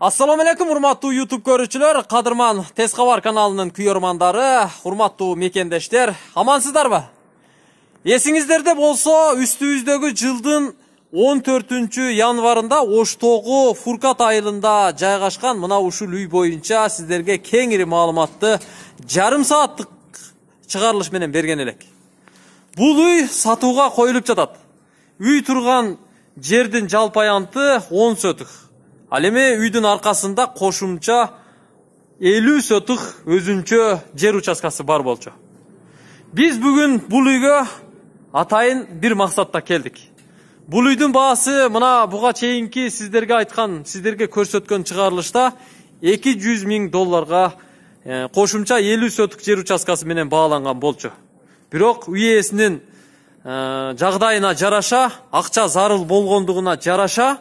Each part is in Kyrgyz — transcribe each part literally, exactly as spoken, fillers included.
Assalamu alaikum урматтуу YouTube көрүүчүлөр, Кадырман Тез кабар каналынын күйөрмандары, урматтуу мекендештер, амансыздарбы? Эсиңиздерде болсо, үстүбүздөгү жылдын он төртүнчү январында Оштогу Фуркат айылында жайгашкан мына ушул үй боюнча сиздерге кеңири маалыматты жарым сааттык чыгарылыш менен берген элек. Бул үй сатууга коюлуп жатат. Үй турган жердин жалпы аянты он сотук. Ал эми үйдүн аркасында кошумча элүү сотук өзүнчө жер участкасы бар болчу. Биз бүгүн бул үйгө атайын бир максатта келдик. Бул үйдүн баасы мына буга чейинки сиздерге айткан, сиздерге көрсөткөн чыгарылышта эки жүз миң долларга кошумча элүү сотук жер участкасы менен бааланган болчу. Бирок үй ээсинин жагдайына жараша, акча зарыл болгондугуна жараша,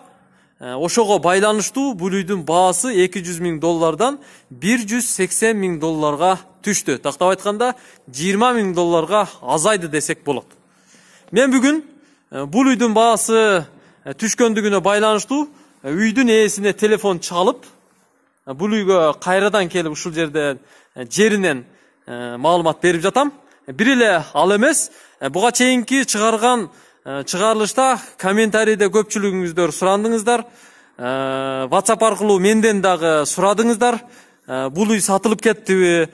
ошого байланыштуу бул үйдүн баасы эки жүз миң доллардан бир жүз сексен миң долларга түштү. Тактап айтканда жыйырма миң долларга азайды десек болот. Мен бүгүн бул үйдүн баасы түшкөндүгүнө байланыштуу үйдүн ээсине телефон чалып, бул үйгө кайрадан келип ушул жерде жеринен маалымат берип жатам. Бир эле ал эмес, буга чейинки чыгарган чыгарылышта комментарийде көпчүлүгүңүздөр сурандыңыздар, WhatsApp аркылуу менден дагы сурадыңыздар, бул үй сатылып кеттиби,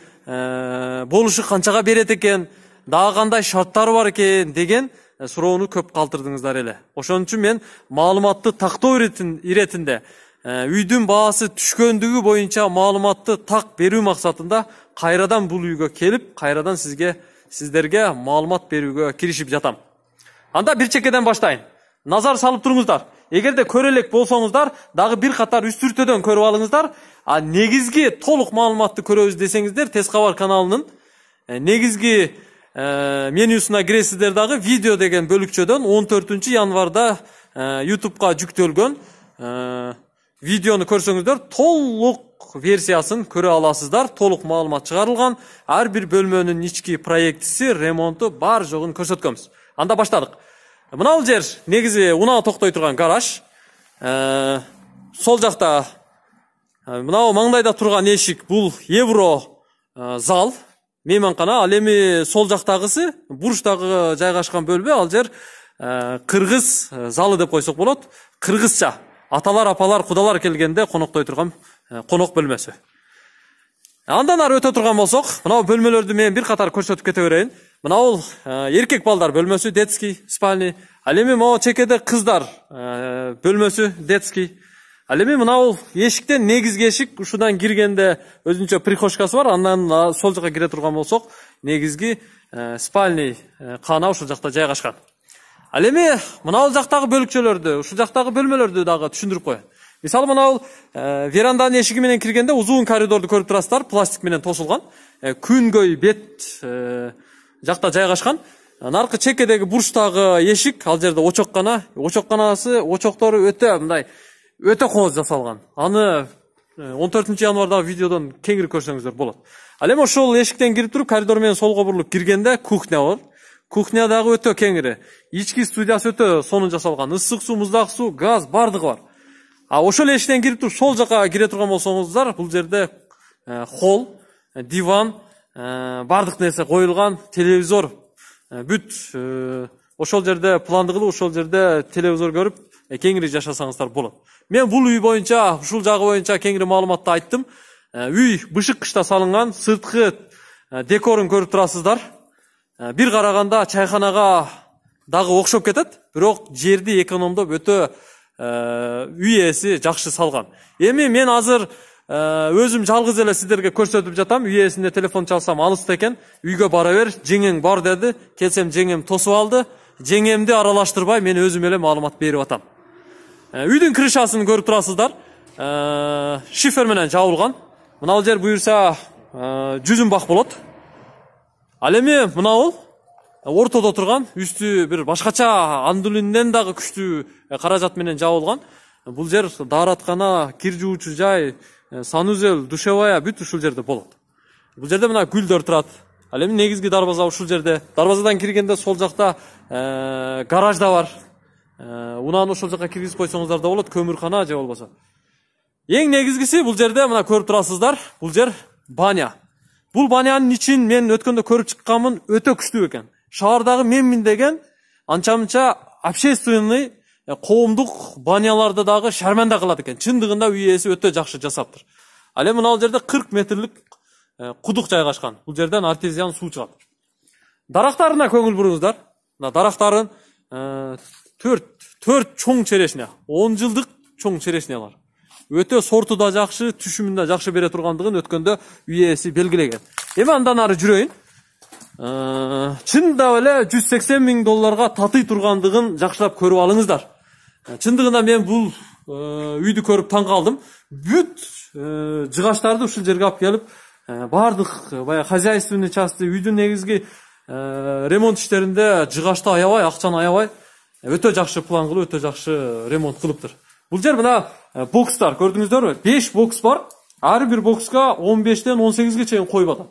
болушу канчага берет экен, дагы кандай шарттары бар экен деген суроону көп калтырдыңыздар эле. Ошон үчүн мен маалыматты тактоо иретинде үйдүн баасы түшкөндүгү боюнча маалыматты так берүү максатында кайрадан бул үйгө келип, кайрадан сизге сиздерге маалымат берүүгө киришип жатам. Анда бир чекеден баштайын. Назар салып туруңуздар. Эгерде көрө элек болсоңуздар, дагы бир катар үстүртөдөн көрүп алыңыздар. А негизги толук маалыматты көрөбүз десеңиздер, Тез кабар каналынын негизги менюсуна киресиздер, дагы видео деген бөлүкчөдөн он төртүнчү январда YouTube'га жүктөлгөн видеону көрсөңүздөр, толук версиясын көрө аласыздар. Толук маалымат чыгарылган. Ар бир бөлмөнүн ички проектиси, ремонту бар жогун көрсөткөнбүз. Анда баштадык. Мына бул жер негизи унаа токтой турган гараж. Сол жакта мына маңдайда турган эшик, бул евро зал, мейманкана. Ал эми сол жактагысы бурчтагы жайгашкан бөлмө, ал жер кыргыз залы деп койсок болот. Кыргызча аталар, апалар, кудалар келгенде коноктой турган конок бөлмөсү. Андан ары өтө турган болсок, мына бөлмөлөрдү мен бир катар көрсөтүп кете берейин. Мына бул эркек балдар бөлмөсү, детский спальня. Ал эми могу чекеде кыздар бөлмөсү, детский. Ал эми мына бул эшиктен негизги эшик, ушудан киргенде өзүнчө прихожкасы бар. Андан сол жака кире турган болсок, негизги спальня кана ушул жакта жайгашкан. Ал эми мына бул жактагы бөлүкчөлөрдү, ушул жактагы бөлмөлөрдү дагы түшүндүрүп коеюн. Мисалы, мына бул веранданын эшиги менен киргенде узун коридорду көрүп турасыздар, пластик менен тосулган. Күнгөй бет жакта жайгашкан. Наркы чекедеги бурчтагы эшик, ал жерде очоккана, очокканасы, очоктору өтө мындай өтө коңуз жасалган. Аны он төртүнчү январдагы видеодон кеңири көрсөңүздөр болот. Ал эми ошол эшиктен кирип туруп, коридор менен солго бурулуп киргенде кухня бар. Кухня дагы өтө кеңири. Ички студиясы өтө сонун жасалган. Ысык суу, муздак суу, газ бардыгы бар. А ошол эшиктен кирип туруп сол жака кире турган болсоңуздар, бул жерде холл, диван, бардык нерсе коюлган, телевизор, бүт ошол жерде планды кылып, ошол жерде телевизор көрүп, кеңири жашасаңыздар болот. Мен бул үй боюнча, ушул жагы боюнча кеңири маалыматты айттым. Үй бышык кышта салынган, сырткы декорун көрүп турасыздар. Бир караганда чайханага дагы окшоп кетет, бирок жерди экономдоп өтө үй ээси жакшы салган. Эми мен азыр өзүм жалгыз эле сиздерге көрсөтүп жатам. Үй ээсине телефон чалсам алыста экен. Үйгө бара бер, жеңең бар деди. Келсем жеңем тосуп алды. Жеңемди аралаштырбай мен өзүм эле маалымат берип атам. Үйдүн крышасын көрүп турасыздар. Шифер менен жабылган. Мына бул жер буюрса жүзүн бак болот. Ал эми мына бул ортодо турган, үстү бир башкача андулинден дагы күчтүү каражат менен жабылган. Бул жер даараткана, кир жуучу жай, санузел, душевая бүт ушул жерде болот. Бул жерде мына гүлдөр турат. Ал эми негизги дарбаза ушул жерде. Дарбазадан киргенде сол жакта гараж да бар. Унааны ошол жака киргизип койсоңуздар да болот, көмүркана же болбосо. Эң негизгиси бул жерде мына көрүп турасыздар. Бул жер баня. Бул банянын ичин мен өткөндө көрүп чыкканмын, өтө күчтүү экен. Шаардагы менмин деген анча-мынча общественный коомдук баняларды дагы шарманда кылат экен. Чындыгында үй ээси өтө жакшы жасаптыр. Ал эми мына жерде кырк метрлик кудук жайгашкан. Бул жерден артезиан суу чыгат. Дарактарына көңүл буруңуздар. Мына дарактарын төрт чоң черешня, он жылдык чоң черешнялар. Өтө сорту да жакшы, түшүмүн да жакшы бере тургандыгын өткөндө үй ээси белгилеген. Эми андан ары жүрөйүн. Чында эле жүз сексен миң долларга татый тургандыгын жакшылап көрүп алыңыздар. Чындыгында мен бул үйдү көрүп таң калдым. Бүт жыгаштарды ушул жерге алып келип, бардык баягы хозяйственный части, үйдүн негизги ремонт иштеринде жыгашты аябай, акчаны аябай, өтө жакшы план кылып, өтө жакшы ремонт кылыптыр. Бул жер мына бокстар көрдүңүздөрбү? беш бокс бар. Ар бир бокска он бештен он сегизге чейин кой батат.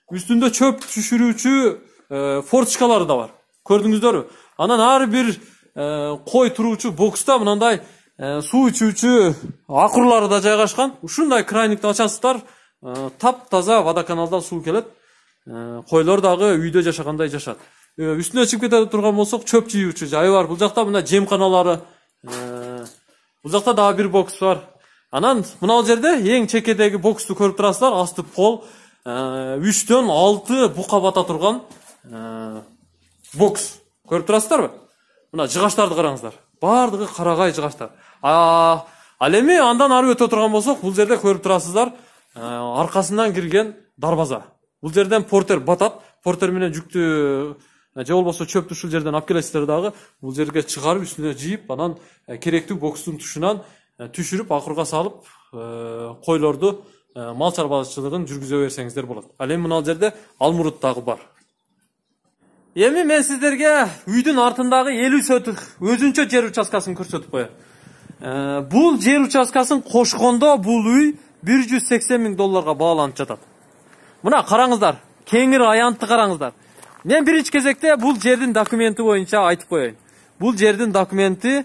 Үстүндө чөп түшүрүүчү форточкалары да бар. Көрдүңүздөрбү? Анан ар бир кой туруучу бокста мындай суу ичүүчү акурлары да жайгашкан. Ушундай крайникти ачасыздар, таптаза водоканалдан суу келет. Койлор дагы үйдө жашагандай жашат. Үстүнө чыгып кете турган болсок, чөп жыюучу жайы бар. Бул жакта мына жемканалары, бул жакта дагы бир бокс бар. Анан мына жерде эң чекедеги боксту көрүп турасыздар. Асты пол үчтөн алты бука бата турган бокс. Көрүп турасыздарбы? Мына жыгаштарды караңыздар. Бардыгы карагай жыгаштар. Ал эми андан ары өтө турган болсок, бул жерде көрүп турасыздар, аркасынан кирген дарбаза. Бул жерден портер батат. Портер менен жүктү же болбосо чөптү ушул жерден алып келесиздер дагы. Бул жерге чыгарып, үстүнө жийип, анан керектүү бокстун тушунан түшүрүп, акырга салып, койлорду мал чарбачылыгын жүргүзө берсеңиздер болот. Ал эми мына жерде алмурут дагы бар. Эми мен сиздерге үйдүн артындагы элүү соток өзүнчө жер участкасын көрсөтүп коеюн. Бул жер участкасын кошкондо бул үй бир жүз сексен миң долларга бааланып жатат. Мына караңыздар, кеңир аянтты караңыздар. Мен биринчи кезекте бул жердин документи боюнча айтып коеюн. Бул жердин документи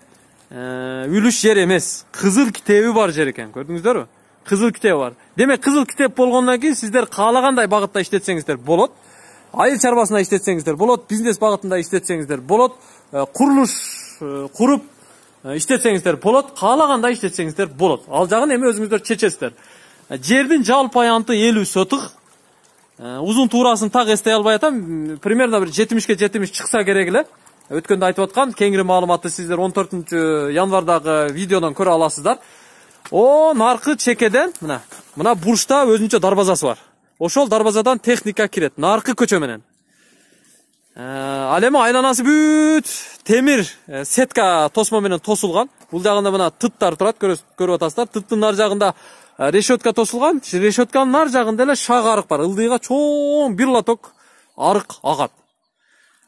үлүш жер эмес, кызыл китеби бар жер экен. Көрдүңүздөрбү? Кызыл китеби бар. Демек, кызыл китеп болгондон кийин сиздер каалагандай багытта иштетсеңиздер болот. Айыл чарбасында иштетсеңиздер болот, бизнес багытында иштетсеңиздер болот, курулуш куруп иштетсеңиздер болот, каалагандай иштетсеңиздер болот. Ал жагын эми өзүңүздөр чечесиздер. Жердин жалпы аянты элүү соток. Узун туурасын так эстей албай атам. Примерно бир жетимишке жетимиш чыкса керек эле. Өткөндө айтып аткан кеңири маалыматты сиздер он төртүнчү январдагы видеодон көрө аласыздар. О, наркы чекеден мына, мына бурчта өзүнчө дарбазасы бар. Ошол дарбазадан техника кирет, наркы көчө менен. Ал эми айланасы бүт темир сетка тосмо менен тосулган. Бул жагында мына тыттар турат, көрүп атасыздар. Тыттын нар жагында решетка тосулган. Решетканын нар жагында эле шак арык бар. Ылдыйга чоң бир лоток арык агат.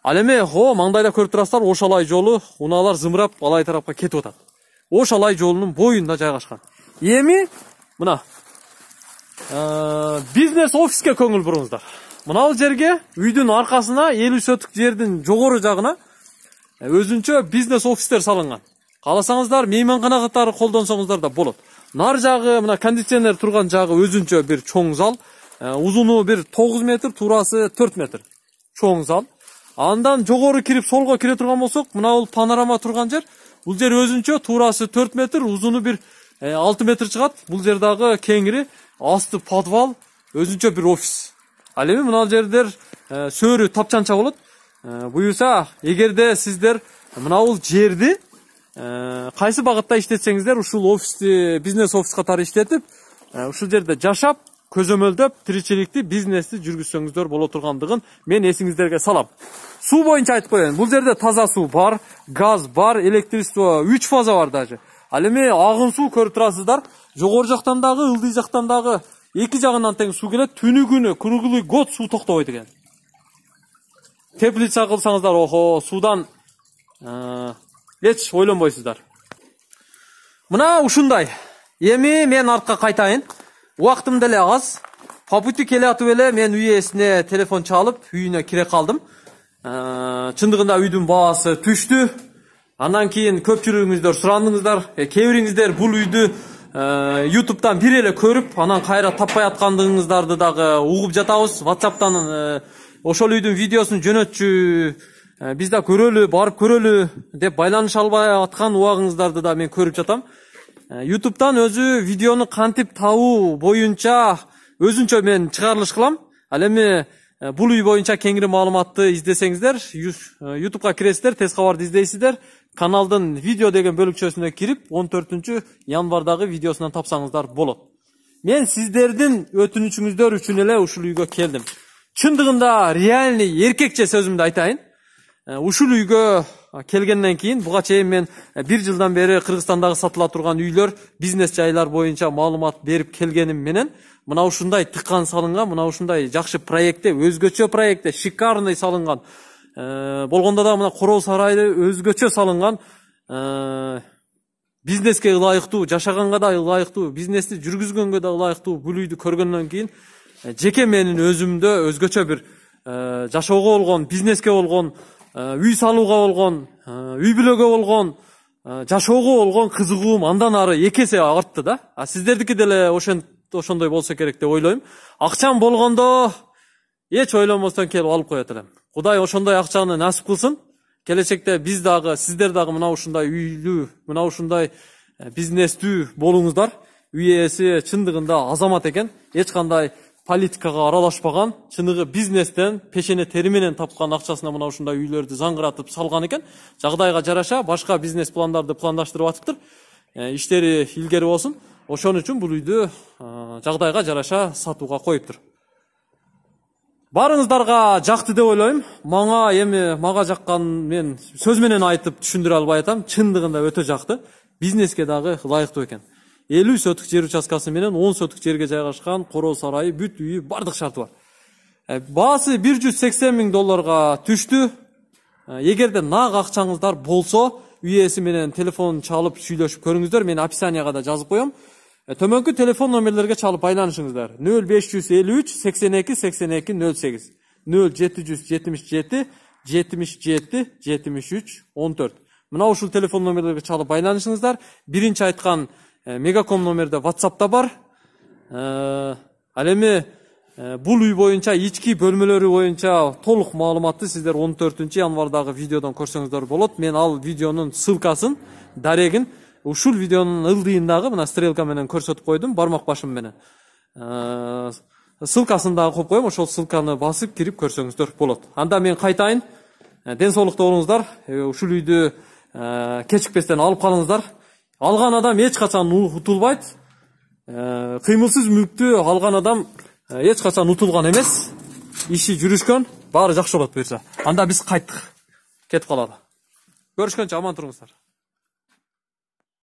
Ал эми о, маңдайда көрүп турасыздар, Ошалай жолу, унаалар зымырап алай тарапка кетип атат. Ошалай жолунун боюнда жайгашкан. Эми мына бизнес офиске көңүл буруңуздар. Мына бул жерге үйдүн аркасына элүү соток жердин жогору жагына өзүнчө бизнес офистер салынган. Кааласаңыздар мейманкана катары колдонсоңуздар да болот. Нар жагы, мына кондиционер турган жагы өзүнчө бир чоң зал. Узуну бир тогуз метр, туурасы төрт метр. Чоң зал. Андан жогору кирип солго кире турган болсок, мына бул панорама турган жер. Бул жер өзүнчө туурасы төрт метр, узуну бир алты метр чыгат. Бул жер дагы кеңири, асты подвал, өзүнчө бир офис. Ал эми мына жердер сөөрү тапчанча болот. Буюрса, эгерде сиздер мына бул жерди кайсы багытта иштетсеңиздер, ушул офисти, бизнес офис катары иштетип, ушул жерде жашап, көзөмөлдөп, тиричиликти, бизнести жүргүзсөңүздөр боло тургандыгын мен эсиңиздерге салам. Суу боюнча айтып коеюн. Бул жерде таза суу бар, газ бар, электричество үч фаза бар даже. Ал эми агын суу көрүп турасыздар. Жогору жактан дагы, ылдый жактан дагы эки жагынан тең суу келет. Түнү күнү круглый год суу токтобойт экен. Теплица кылсаңыздар, охо, суудан эч ойлонбойсуздар. Мына ушундай. Эми мен артка кайтайын. Убактым деле аз. По пути келе атып эле мен үй ээсине телефон чалып, үйүнө кире калдым. Чындыгында үйдүн баасы түштү. Андан кийин көпчүлүгүңүздөр сурандыңыздар. Кээ бириңиздер бул үйдү YouTube'дан бир эле көрүп, анан кайра таппай аткандыгыңыздарды дагы угуп жатабыз. WhatsApp'тан ошол үйдүн видеосун жөнөтчү, биз да көрөлү, барып көрөлү деп байланыша албай аткан убагыңыздарды да мен көрүп жатам. YouTube'дан өзү видеону кантип табуу боюнча өзүнчө мен чыгарылыш кылам. Ал эми бул үй боюнча кеңири маалыматты издесеңиздер, YouTube'га киресиздер, тез кабарды издейсиздер. Каналдын видео деген бөлүкчөсүнө кирип, он төртүнчү январдагы видеосунан тапсаңыздар болот. Мен сиздердин өтүнүчүңүздөр үчүн эле ушул үйгө келдим. Чындыгында реальный эркекче сөзүмдү айтайын. Ушул үйгө келгенден кийин буга чейин мен бир жылдан бери Кыргызстандагы сатыла турган үйлөр, бизнес жайлар боюнча маалымат берип келгеним менен мына ушундай тыккан салынган, мына ушундай жакшы проектте, өзгөчө проектте, шикарный салынган, болгондо да мына короо сарайды өзгөчө салынган, бизнеске ылайыктуу, жашаганга да ылайыктуу, бизнести жүргүзгөнгө да ылайыктуу бул үйдү көргөндөн кийин жеке менин өзүмдө өзгөчө бир жашоого болгон, бизнеске болгон, үй салууга болгон, үй бүлөгө болгон, жашоого болгон кызыгуум андан ары эки эсе артты да. А сиздердики деле ошондой болсо керек деп ойлойм. Акчам болгондо эч ойлонбостон келип алып коет элем. Кудай ошондой акчаны насип кылсын. Келечекте биз дагы, сиздер дагы мына ушундай үйлүү, мына ушундай бизнестүү болуңуздар. Үй ээси чындыгында азамат экен. Эч кандай политикага аралашпаган, чыныгы бизнестен, пешене тери менен тапкан акчасына мына ушундай үйлөрдү заңгыратып салган экен. Жагдайга жараша башка бизнес пландарды пландаштырып атыптыр. Иштери илгери болсун. Ошон үчүн бул үйдү жагдайга жараша сатууга коюптур. Барыңыздарга жакты деп ойлойм. Мага эми мага жаккан мен сөз менен айтып түшүндүрө албай атам. Чындыгында өтө жакты. Бизнеске дагы ылайыктуу экен. элүү сотук жер участкасы менен он сотук жерге жайгашкан, короо сарайы, бүт үйү, бардык шарты бар. Баасы бир жүз сексен миң долларга түштү. Эгерде нак акчаңыздар болсо, үй ээси менен телефон чалып сүйлөшүп көрүңүздөр. Мен описанияга да жазып коем. Төмөнкү телефон номерлерге чалып байланышыңыздар. нөл беш жүз элүү үч сексен эки сексен эки нөл сегиз, нөл жети жүз жетимиш жети жетимиш жети жетимиш үч он төрт. Мына ушул телефон номерлерге чалып байланышыңыздар. Биринчи айткан Мегаком номерде WhatsApp'та бар. Ал эми бул үй боюнча, ички бөлмөлөрү боюнча толук маалыматты сиздер он төртүнчү январдагы видеодон көрсөңүздөр болот. Мен ал видеонун ссылкасын, дарегин ушул видеонун ылдыйындагы мына стрелка менен көрсөтүп койдум, бармак башым менен. Ссылкасын дагы коюп коем, ошол ссылканы басып кирип көрсөңүздөр болот. Анда мен кайтайын. Ден соолукта болуңуздар. Ушул үйдү кечикпестен алып калыңыздар. Алган адам эч качан утулбайт. Кыймылсыз мүлктү алган адам эч качан утулган эмес. Иши жүрүшкөн, баары жакшы болот буюрса. Анда биз кайттык. Кетип калалы. Көрүшкөнчө аман туруңуздар.